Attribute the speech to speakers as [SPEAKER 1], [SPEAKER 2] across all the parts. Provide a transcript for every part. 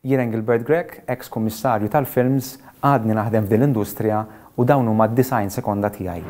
[SPEAKER 1] Jien Engelbert Grech, eks Kummissarju tal-Films, għadni naħdem f'din l-industrija u dawn huma d-90 sekonda tiegħi.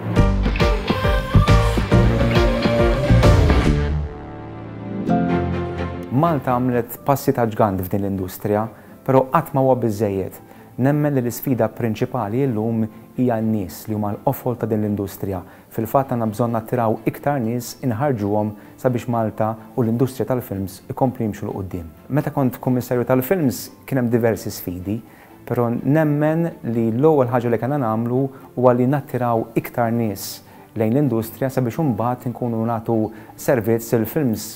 [SPEAKER 1] Malta għamlet passi ta' ġgant f'din l-industrija, però qatt ma huwa biżżejjed. Nemmen li l-isfida prinċipali illum hija n-nies li huma l-qofol ta' din l-industrija. Fil-fatt għandna bżonn nattiraw iktar nies inħarrġuhom sabiex Malta u l-industrija tal-films ikomplu jimxu 'l quddiem. Meta kont Kummissarju tal-Films kien hemm diversi sfidi, però nemmen li l-ewwel ħaġa li kellna nagħmlu huwa li nattiraw iktar nies lejn l-industrija sabiex imbagħad inkunu nagħtu servizz lil films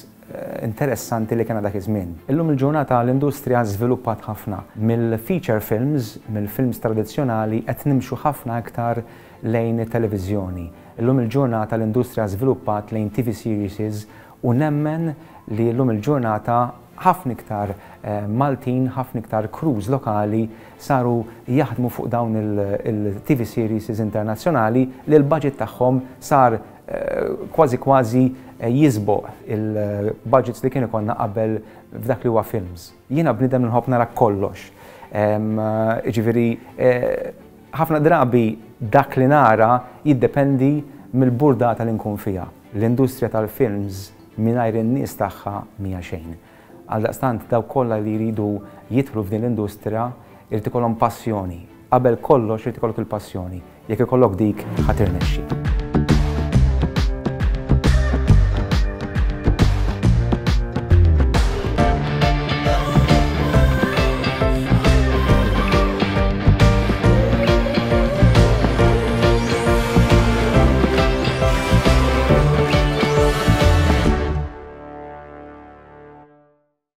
[SPEAKER 1] interessanti li kellna dak iż-żmien. Illum il-ġurnata l-industrija żviluppat ħafna. Mill-feature films, mill-films tradizzjonali qed nimxu ħafna iktar lejn it-televiżjoni. Illum il-ġurnata l-industrija żviluppat lejn TV series u nemmen li llum il-ġurnata ħafna iktar Maltin, ħafna iktar crews lokali saru jaħdmu fuq dawn il-TV series internazzjonali li l-budget tagħhom sar kważi kważi jisboq il-budgets li kien ikollna qabel f'dak li huwa films. Jiena bniedem li nħobb nara kollox. Jiġifieri ħafna drabi dak li nara jiddependi mill-burdata li nkun fiha. L-industrija tal-films mingħajr in-nies tagħha mhija xejn. Għaldaqstant dawk kollha li jridu jidħlu f'din l-industrija jrid ikollhom passjoni. Qabel kollox irid ikollok il-passjoni. Jekk ikollok dik ħa tirnexxi.